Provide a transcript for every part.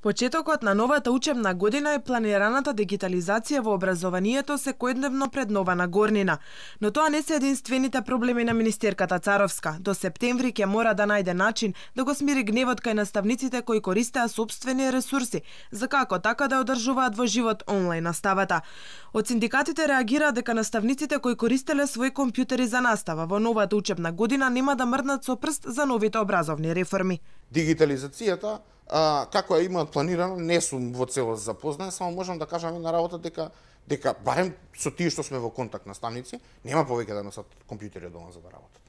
Почетокот на новата учебна година е планираната дигитализација во образованието секојдневно пред нова нагорнина. Но тоа не се единствените проблеми на министерката Царовска. До септември ќе мора да најде начин да го смири гневот кај наставниците кои користеа сопствени ресурси за како така да одржуваат во живот онлайн наставата. Од синдикатите реагираат дека наставниците кои користеле своји компјутери за настава во новата учебна година нема да мрднат со прст за новите образовни реформи. Дигитализацијата како ја имаат планирано, не сум во целост запознат, само можам да кажам една работа дека барем со тие што сме во контакт наставници, нема повеќе да носат компјутери од дома за да работат.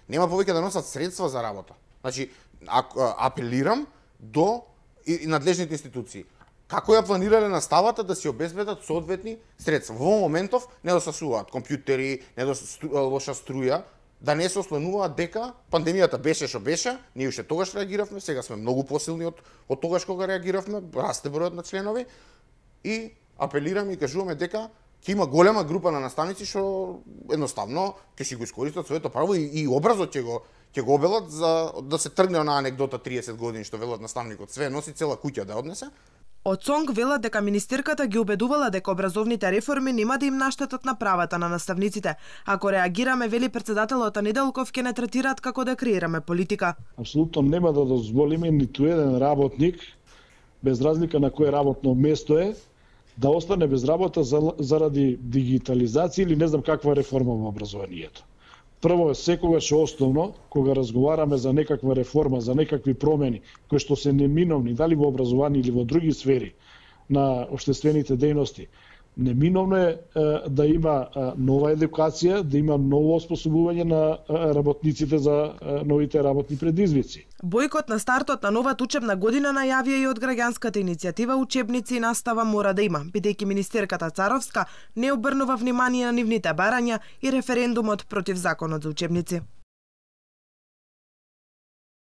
Нема повеќе да носат средства за работа. Значи, апелирам до надлежните институции. Како ја планирале наставата да си обезбедат соодветни средства. Во моментов недостасуваат компјутери, лоша струја, да не се ослонуваат дека пандемијата беше што беше, ние уште тогаш реагиравме, сега сме многу посилни од тогаш кога реагиравме, расте бројот на членови и апелираме и кажуваме дека ќе има голема група на наставници што едноставно ќе си го искористат своето право и образот ќе го обелат за да се тргне на анекдота 30 години што велат наставникот, све носи, цела куќа да однесе. Од СОНГ велат дека министерката ги убедувала дека образовните реформи нема да им наштетат на правата на наставниците. Ако реагираме, вели претседателот Неделков, ќе не третираат како да креираме политика. Апсолутно нема да дозволиме ниту еден работник, без разлика на кое работно место е, да остане без работа заради дигитализација или не знам каква реформа во образованието. Прво, секогаш основно, кога разговараме за некаква реформа, за некакви промени, кои што се неминовни, дали во образование или во други сфери на општествените дејности, неминовно е да има нова едукација, да има ново оспособување на работниците за новите работни предизвици. Бојкот на стартот на новата учебна година најавија и од граѓанската иницијатива Учебници и настава мора да има, бидејќи министерката Царовска не обрнува внимание на нивните барања и референдумот против законот за учебници.